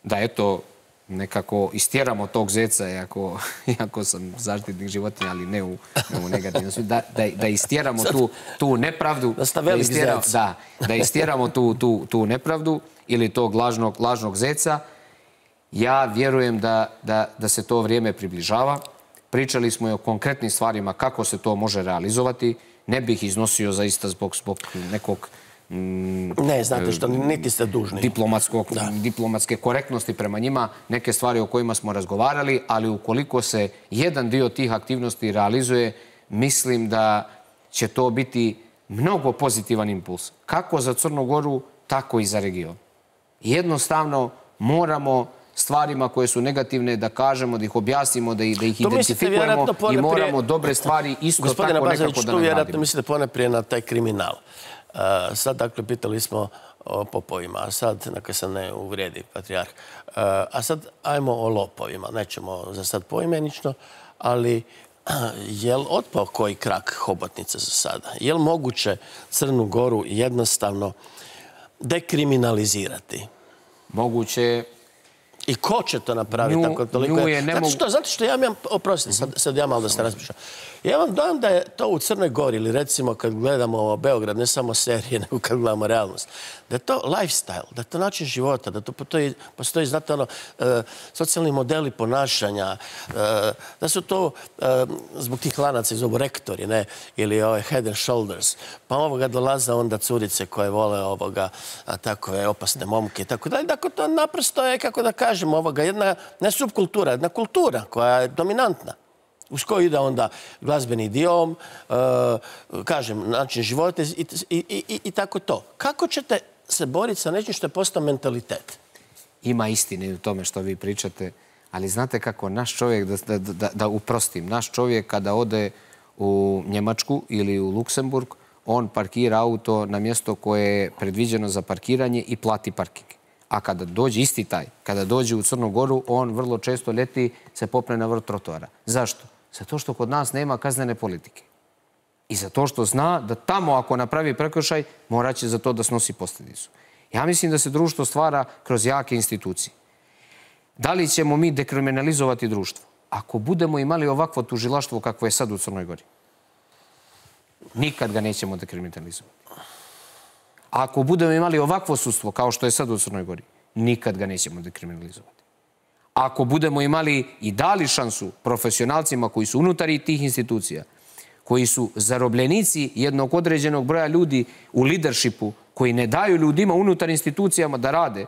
da eto nekako istjeramo tog zeca, iako sam zaštitnik životinja, ali ne u negativnom smislu, da istjeramo tu nepravdu, da istjeramo tu nepravdu ili tog lažnog zeca. Ja vjerujem da se to vrijeme približava. Pričali smo i o konkretnim stvarima kako se to može realizovati. Ne bih iznosio zaista zbog nekog ne, znate što, niti ste dužni. Diplomatske korektnosti prema njima, neke stvari o kojima smo razgovarali, ali ukoliko se jedan dio tih aktivnosti realizuje, mislim da će to biti mnogo pozitivan impuls. Kako za Crnu Goru, tako i za region. Jednostavno moramo stvarima koje su negativne da kažemo, da ih objasnimo, da ih identifikujemo i moramo dobre stvari isto tako nekako da nagradimo. Gospodine Bazović, tu vjerojatno mislite poneprije na taj kriminal. Sad, dakle, pitali smo o popovima, a sad, neka se ne uvrijedi patrijarh, a sad ajmo o lopovima. Nećemo za sad poimenično, ali je li otpao koji krak hobotnice za sada? Je li moguće Crnu Goru jednostavno dekriminalizirati? Moguće je. I ko će to napraviti tako toliko? Zato što ja imam, oprostite, sad ja malo da se razmišljam. Ja vam dojam da je to u Crnoj Gori, ili recimo kad gledamo Beograd, ne samo serije, nego kad gledamo realnost, da je to lifestyle, da je to način života, da to postoji, znate, socijalni modeli ponašanja, da su to zbog tih lanaca i zovu rektori, ne, ili head and shoulders, pa ovoga dolaze onda curice koje vole ovoga, takove opasne momke i tako dalje. Dakle, to naprosto je, kako da kažem, ovoga, jedna, ne subkultura, jedna kultura koja je dominantna. Uz koju ide onda glazbeni idiom, kažem, način života i tako to. Kako ćete se boriti sa nečim što je postao mentalitet? Ima istine u tome što vi pričate, Ali znate kako, naš čovjek, da uprostim, naš čovjek kada ode u Njemačku ili u Luksemburg, on parkira auto na mjesto koje je predviđeno za parkiranje i plati parking. A kada dođe isti taj, kada dođe u Crnu Goru, on vrlo često ljeti se popne na vrh trotoara. Zašto? Zato što kod nas nema kaznene politike. I zato što zna da tamo ako napravi prekršaj, morat će za to da snosi posljedicu. Ja mislim da se društvo stvara kroz jake institucije. Da li ćemo mi dekriminalizovati društvo? Ako budemo imali ovakvo tužilaštvo kakvo je sad u Crnoj Gori, nikad ga nećemo dekriminalizovati. Ako budemo imali ovakvo sudstvo kao što je sad u Crnoj Gori, nikad ga nećemo dekriminalizovati. Ako budemo imali i dali šansu profesionalcima koji su unutar tih institucija, koji su zarobljenici jednog određenog broja ljudi u leadershipu, koji ne daju ljudima unutar institucijama da rade,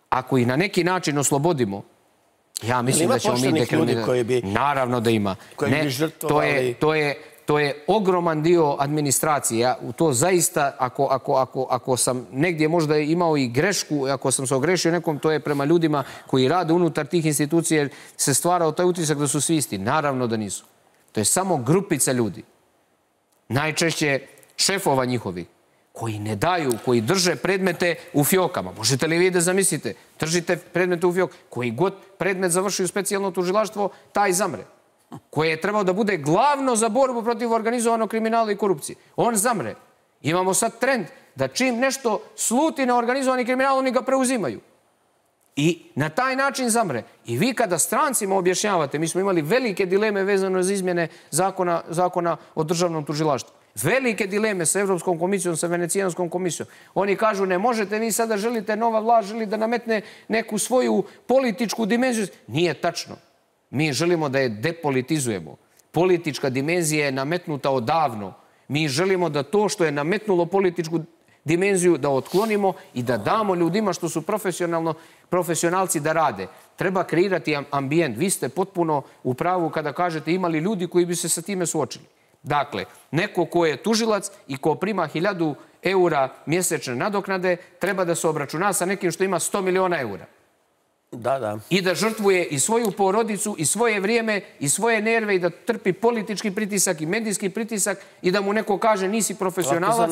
ako ih na neki način oslobodimo, ja mislim da ćemo mi dekriminalizovati. Naravno da ima. To je ogroman dio administracije. Ja to zaista, ako sam negdje možda imao i grešku, ako sam se ogrešio nekom, to je prema ljudima koji rade unutar tih institucija, jer se stvarao taj utisak da su svi isti. Naravno da nisu. To je samo grupica ljudi. Najčešće šefova njihovi, koji ne daju, koji drže predmete u fjokama. Možete li vi da zamislite? Držite predmete u fjok. Koji god predmet završi u specijalno tužilaštvo, taj zamre. Koje je trebao da bude glavno za borbu protiv organizovanog kriminala i korupcije. On zamre. Imamo sad trend da čim nešto sluti na organizovani kriminal, oni ga preuzimaju. I na taj način zamre. I vi kada strancima objašnjavate, mi smo imali velike dileme vezano za izmjene zakona o državnom tužilaštvu. Velike dileme sa Evropskom komisijom, sa Venecijanskom komisijom. Oni kažu, ne možete, vi sada želite, nova vlast želi da nametne neku svoju političku dimenziju. Nije tačno. Mi želimo da je depolitizujemo. Politička dimenzija je nametnuta odavno. Mi želimo da to što je nametnulo političku dimenziju da otklonimo i da damo ljudima što su profesionalci da rade. Treba kreirati ambijent. Vi ste potpuno u pravu kada kažete imali ljudi koji bi se sa time suočili. Dakle, neko ko je tužilac i ko prima 1000 eura mjesečne nadoknade treba da se obračuna sa nekim što ima 100 miliona eura. I da žrtvuje i svoju porodicu, i svoje vrijeme, i svoje nerve, i da trpi politički pritisak i medijski pritisak i da mu neko kaže nisi profesionalac.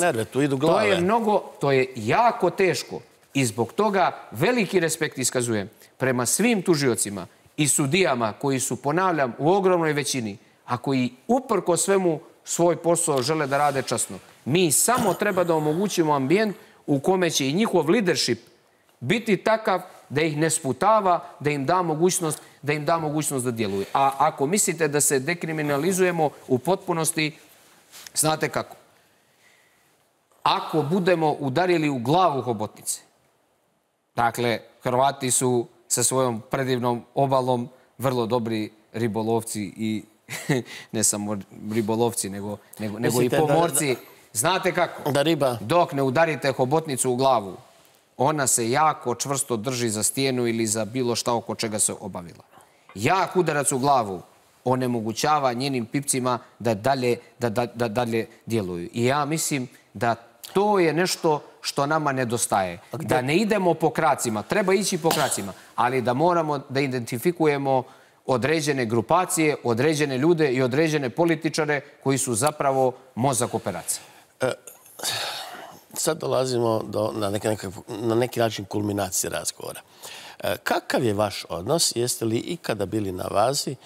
To je jako teško i zbog toga veliki respekt iskazujem prema svim tužiocima i sudijama koji su, ponavljam, u ogromnoj većini, a koji uprko svemu svoj posao žele da rade časno. Mi samo treba da omogućimo ambijent u kome će i njihov leadership biti takav da ih ne sputava, da im da mogućnost da djeluju. A ako mislite da se dekriminalizujemo u potpunosti, znate kako? Ako budemo udarili u glavu hobotnice, dakle, Hrvati su sa svojom predivnom obalom vrlo dobri ribolovci i ne samo ribolovci, nego i pomorci. Znate kako? Dok ne udarite hobotnicu u glavu, ona se jako čvrsto drži za stijenu ili za bilo šta oko čega se obavila. Jak udarac u glavu onemogućava njenim pipcima da dalje djeluju. I ja mislim da to je nešto što nama nedostaje. Da ne idemo po kracima, treba ići po kracima, ali da moramo da identifikujemo određene grupacije, određene ljude i određene političare koji su zapravo mozak operacije. Sad dolazimo na neki način kulminacije razgovora. Kakav je vaš odnos? Jeste li ikada bili na vazi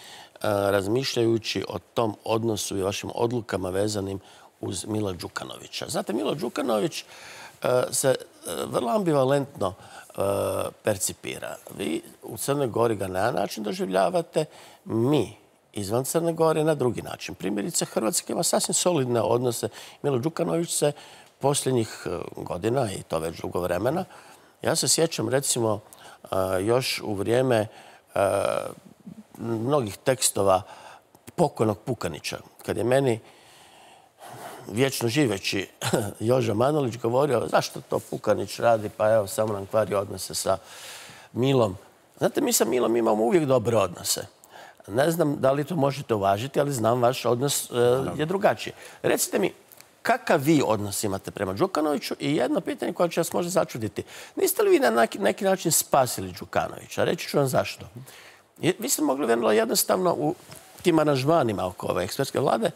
razmišljajući o tom odnosu i vašim odlukama vezanim uz Mila Đukanovića? Znate, Milo Đukanović se vrlo ambivalentno percipira. Vi u Crnoj Gori ga na jedan način doživljavate, mi izvan Crne Gore na drugi način. Primjerice, Hrvatska ima sasvim solidne odnose. Milo Đukanović se posljednjih godina, i to već dugo vremena, ja se sjećam recimo još u vrijeme mnogih tekstova pokojnog Pukanića, kad je meni vječno živeći Joža Manolić govorio zašto to Pukanić radi, pa evo samo nam kvari odnose sa Milom. Znate, mi sa Milom imamo uvijek dobre odnose. Ne znam da li to možete uvažiti, ali znam vaš odnos je drugačiji. Recite mi, kakav vi odnos imate prema Đukanoviću i jedno pitanje koje će vas možda začuditi. Niste li vi na neki način spasili Đukanovića? Reći ću vam zašto. Vi ste mogli vrlo jednostavno u tim aranžmanima oko ove ekspertske vlade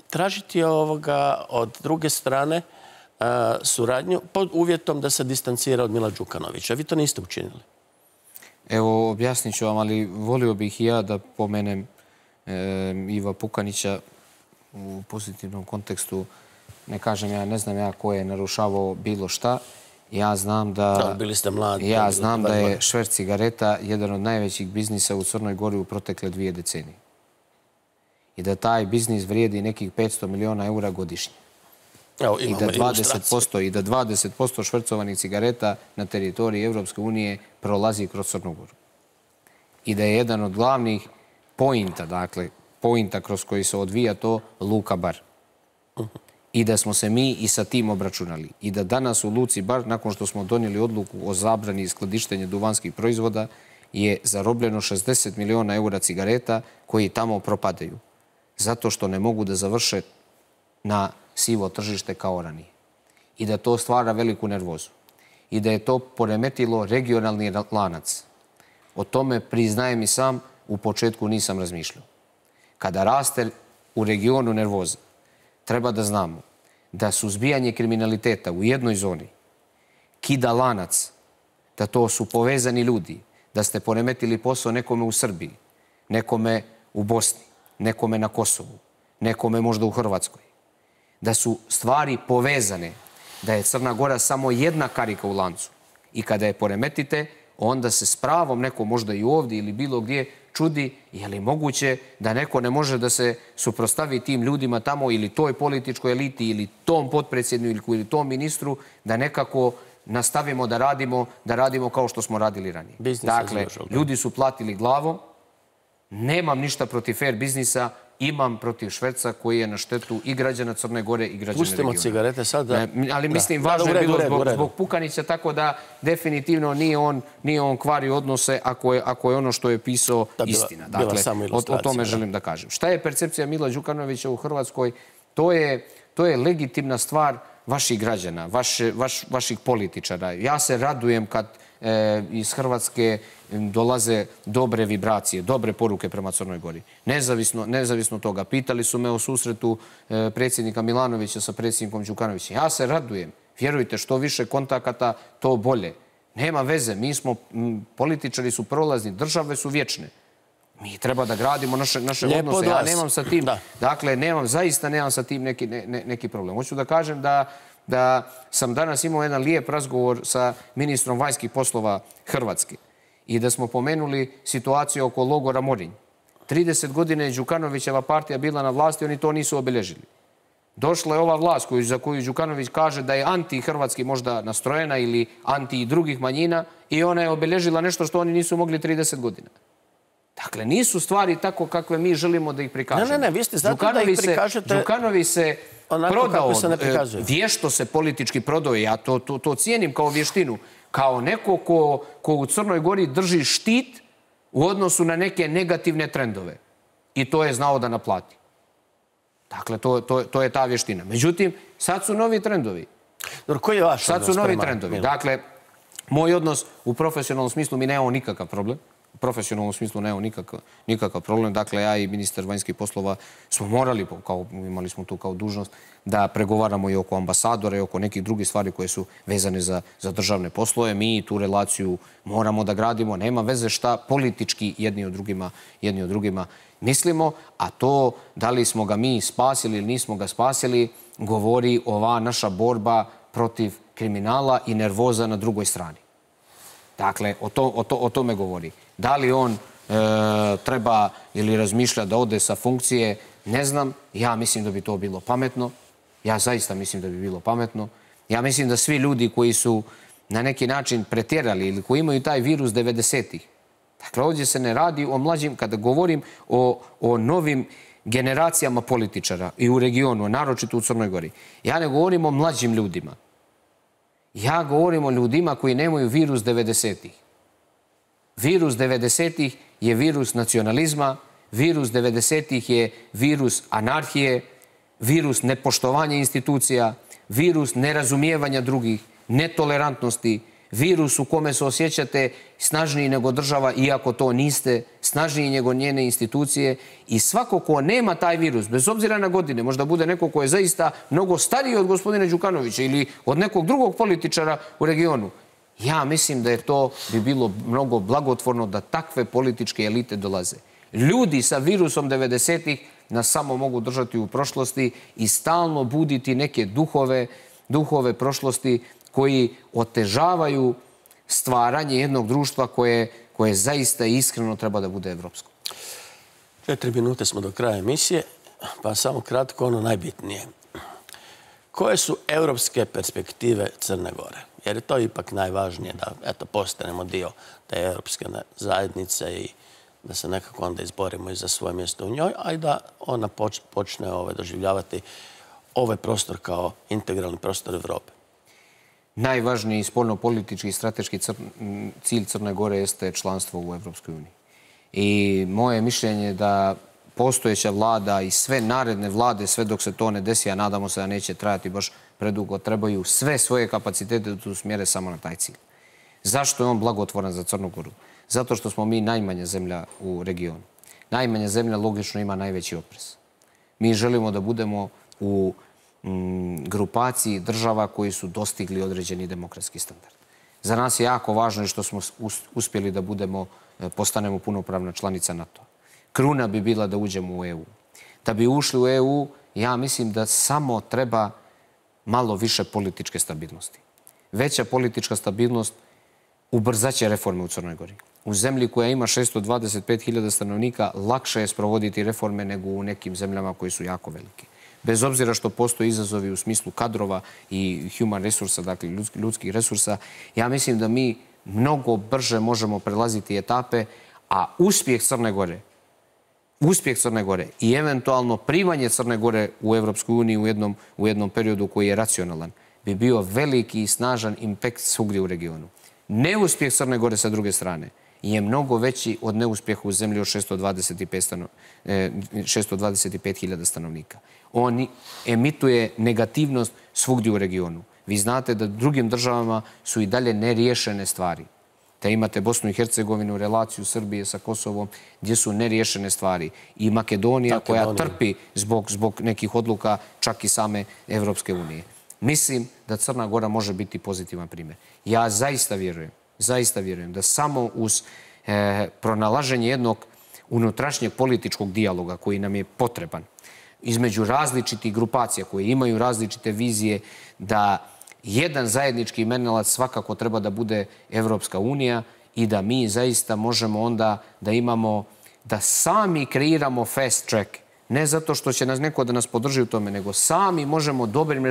tražiti od druge strane suradnju pod uvjetom da se distancira od Mila Đukanovića. Vi to niste učinili. Evo, objasnit ću vam, ali volio bih i ja da pomenem Iva Pukanića u pozitivnom kontekstu. Ne kažem ja, ne znam ja ko je narušavao bilo šta. Ja znam da... Bili ste mladi. Ja znam da je šverc cigareta jedan od najvećih biznisa u Crnoj Gori u protekle 2 decenije. I da taj biznis vrijedi nekih 500 miliona eura godišnje. I da 20% švercovanih cigareta na teritoriji Evropske unije prolazi kroz Crnu Goru. I da je jedan od glavnih pointa, dakle, pointa kroz koji se odvija to, Luka Bar. I da smo se mi i sa tim obračunali. I da danas u Luci Bar, nakon što smo donijeli odluku o zabrani skladištenja duvanskih proizvoda, je zarobljeno 60 miliona eura cigareta koji tamo propadaju. Zato što ne mogu da završe na sivo tržište kao ranije. I da to stvara veliku nervozu. I da je to poremetilo regionalni lanac. O tome, priznajem i sam, u početku nisam razmišljao. Kada raste u regionu nervoza, treba da znamo da suzbijanje kriminaliteta u jednoj zoni kida lanac, da to su povezani ljudi, da ste poremetili posao nekome u Srbiji, nekome u Bosni, nekome na Kosovu, nekome možda u Hrvatskoj. Da su stvari povezane, da je Crna Gora samo jedna karika u lancu. I kada je poremetite, onda se s pravom neko možda i ovdje ili bilo gdje čudi je li moguće da neko ne može da se suprostavi tim ljudima tamo ili toj političkoj eliti ili tom potpredsjedniku ili tom ministru, da nekako nastavimo da radimo kao što smo radili ranije. Dakle, ljudi su platili glavom, nemam ništa protiv fair biznisa, imam protiv šverca koji je na štetu i građana Crne Gore i građana regiona. Pustimo cigarete sad. Ali mislim, važno je bilo zbog Pukanića, tako da definitivno nije on kvari odnose ako je ono što je pisao istina. Dakle, o tome želim da kažem. Šta je percepcija Mila Đukanovića u Hrvatskoj? To je legitimna stvar vaših građana, vaših političara. Ja se radujem kad iz Hrvatske dolaze dobre vibracije, dobre poruke prema Crnoj Gori. Nezavisno toga. Pitali su me o susretu predsjednika Milanovića sa predsjednikom Đukanovićem. Ja se radujem. Vjerujte, što više kontakata, to bolje. Nema veze. Mi smo, političari su prolazni, države su vječne. Mi treba da gradimo naše odnose. Ja nemam sa tim, dakle, zaista nemam sa tim neki problem. Hoću da kažem da sam danas imao jedan lijep razgovor sa ministrom vanjskih poslova Hrvatske i da smo pomenuli situaciju oko logora Morinj. 30 godina je Đukanovićeva partija bila na vlasti, oni to nisu obilježili. Došla je ova vlast za koju Đukanović kaže da je anti-hrvatski možda nastrojena ili anti drugih manjina i ona je obilježila nešto što oni nisu mogli 30 godina. Dakle, nisu stvari tako kakve mi želimo da ih prikažemo. Ne, vi ste zato da ih prikažete... Đukanović se prodao, vješto se politički prodao, ja to cijenim kao vještinu, kao neko ko u Crnoj Gori drži štit u odnosu na neke negativne trendove. I to je znao da naplati. Dakle, to je ta vještina. Međutim, sad su novi trendovi. Koji je vaš odnos? Sad su novi trendovi. Dakle, moj odnos u profesionalnom smislu, mi nemamo nikakav problem. U profesionalnom smislu nemamo nikakav problem. Dakle, ja i ministar vanjskih poslova smo morali, imali smo tu kao dužnost, da pregovaramo i oko ambasadora i oko nekih drugih stvari koje su vezane za državne poslove. Mi tu relaciju moramo da gradimo. Nema veze šta politički jedni od drugima mislimo, a to da li smo ga mi spasili ili nismo ga spasili, govori ova naša borba protiv kriminala i nervoza na drugoj strani. Dakle, o tome govori. Da li on treba ili razmišlja da ode sa funkcije, ne znam. Ja mislim da bi to bilo pametno. Ja zaista mislim da bi bilo pametno. Ja mislim da svi ljudi koji su na neki način pretjerali ili koji imaju taj virus 90-ih, dakle, ovdje se ne radi o mlađim, kada govorim o novim generacijama političara i u regionu, naročito u Crnoj Gori. Ja ne govorim o mlađim ljudima. Ja govorim o ljudima koji nemaju virus 90-ih. Virus 90-ih je virus nacionalizma, virus 90-ih je virus anarhije, virus nepoštovanja institucija, virus nerazumijevanja drugih, netolerantnosti, virus u kome se osjećate snažniji nego država, iako to niste, snažniji nego njene institucije i svako ko nema taj virus, bez obzira na godine, možda bude neko ko je zaista mnogo stariji od gospodina Đukanovića ili od nekog drugog političara u regionu. Ja mislim da je to bi bilo mnogo blagotvorno da takve političke elite dolaze. Ljudi sa virusom 90-ih nas samo mogu držati u prošlosti i stalno buditi neke duhove prošlosti koji otežavaju stvaranje jednog društva koje zaista iskreno treba da bude evropsko. 4 minute smo do kraja emisije, pa samo kratko ono najbitnije. Koje su evropske perspektive Crne Gore? Jer je to ipak najvažnije da postanemo dio te evropske zajednice i da se nekako onda izborimo i za svoje mjesto u njoj, a i da ona počne doživljavati ovaj prostor kao integralni prostor Evrope. Najvažniji spoljno-politički i strateški cilj Crne Gore jeste članstvo u Evropskoj uniji. I moje mišljenje je da postojeća vlada i sve naredne vlade, sve dok se to ne desi, a nadamo se da neće trajati baš predugo, trebaju sve svoje kapacitete da usmjere samo na taj cilj. Zašto je on blagotvoran za Crnu Goru? Zato što smo mi najmanja zemlja u regionu. Najmanja zemlja logično ima najveći oprez. Mi želimo da budemo u grupaciji država koji su dostigli određeni demokratski standard. Za nas je jako važno što smo uspjeli da postanemo punopravna članica NATO. Kruna bi bila da uđemo u EU. Da bi ušli u EU, ja mislim da samo treba malo više političke stabilnosti. Veća politička stabilnost ubrzaće reforme u Crnoj Gori. U zemlji koja ima 625.000 stanovnika lakše je sprovoditi reforme nego u nekim zemljama koji su jako velike. Bez obzira što postoje izazovi u smislu kadrova i human resursa, dakle ljudskih resursa, ja mislim da mi mnogo brže možemo prelaziti etape, a uspjeh Crne Gore i eventualno primanje Crne Gore u Evropsku uniju u jednom periodu koji je racionalan, bi bio veliki i snažan impakt svugdje u regionu. Neuspjeh Crne Gore sa druge strane je mnogo veći od neuspjeha u zemlji od 625.000 stanovnika. On emituje negativnost svugdje u regionu. Vi znate da drugim državama su i dalje neriješene stvari. Da imate Bosnu i Hercegovinu, relaciju Srbije sa Kosovom, gdje su neriješene stvari. I Makedonija koja trpi zbog nekih odluka čak i same Evropske unije. Mislim da Crna Gora može biti pozitivan primjer. Ja zaista vjerujem da samo uz pronalaženje jednog unutrašnjeg političkog dijaloga koji nam je potreban između različitih grupacija koje imaju različite vizije, da jedan zajednički imenilac svakako treba da bude Evropska unija i da mi zaista možemo onda da imamo, da sami kreiramo fast track. Ne zato što će nas neko da nas podrži u tome, nego sami možemo dobrim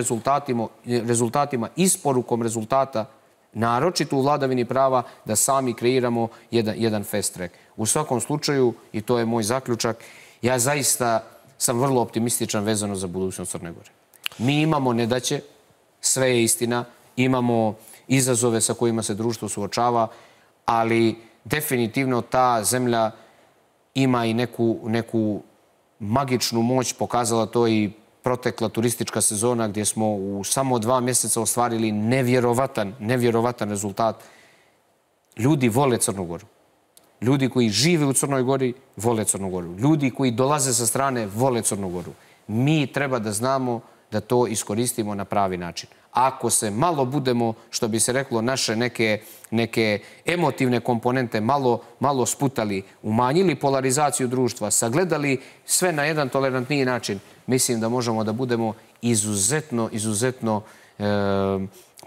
rezultatima, isporukom rezultata, naročito u vladavini prava, da sami kreiramo jedan fast track. U svakom slučaju, i to je moj zaključak, ja zaista sam vrlo optimističan vezano za budućnost Crne Gore. Mi imamo nedaće, sve je istina, imamo izazove sa kojima se društvo suočava, ali definitivno ta zemlja ima i neku magičnu moć, pokazala to i protekla turistička sezona gdje smo u samo 2 mjeseca ostvarili nevjerovatan rezultat. Ljudi vole Crnu Goru. Ljudi koji žive u Crnoj Gori vole Crnu Goru. Ljudi koji dolaze sa strane vole Crnu Goru. Mi treba da znamo da to iskoristimo na pravi način. Ako se malo budemo, što bi se reklo, naše neke emotivne komponente malo sputali, umanjili polarizaciju društva, sagledali sve na jedan tolerantniji način, mislim da možemo da budemo izuzetno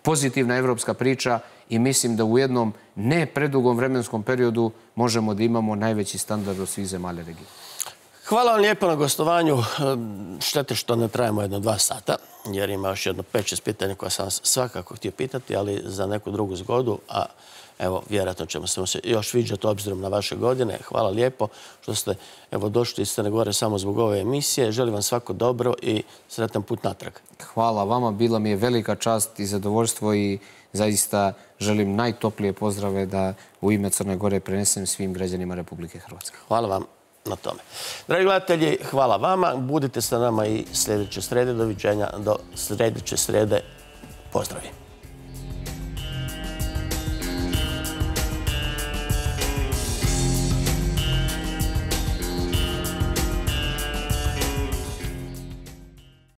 pozitivna evropska priča i mislim da u jednom ne predugom vremenskom periodu možemo da imamo najveći standard od svih zemalja regije. Hvala vam lijepo na gostovanju. Štete što ne trajemo 1-2 sata, jer ima još jedno 5-6 pitanja koja sam svakako htio pitati, ali za neku drugu zgodu, a evo, vjerojatno ćemo se još viđati obzirom na vaše godine. Hvala lijepo što ste došli iz Crne Gore samo zbog ove emisije. Želim vam svako dobro i sretan put natrag. Hvala vama, bila mi je velika čast i zadovoljstvo i zaista želim najtoplije pozdrave da u ime Crne Gore prenesem svim građanima Republike Hrvatske. Hvala vam na tome. Dragi gledatelji, hvala vama. Budite sa nama i sljedeće srede. Doviđenja do sljedeće srede. Pozdravi.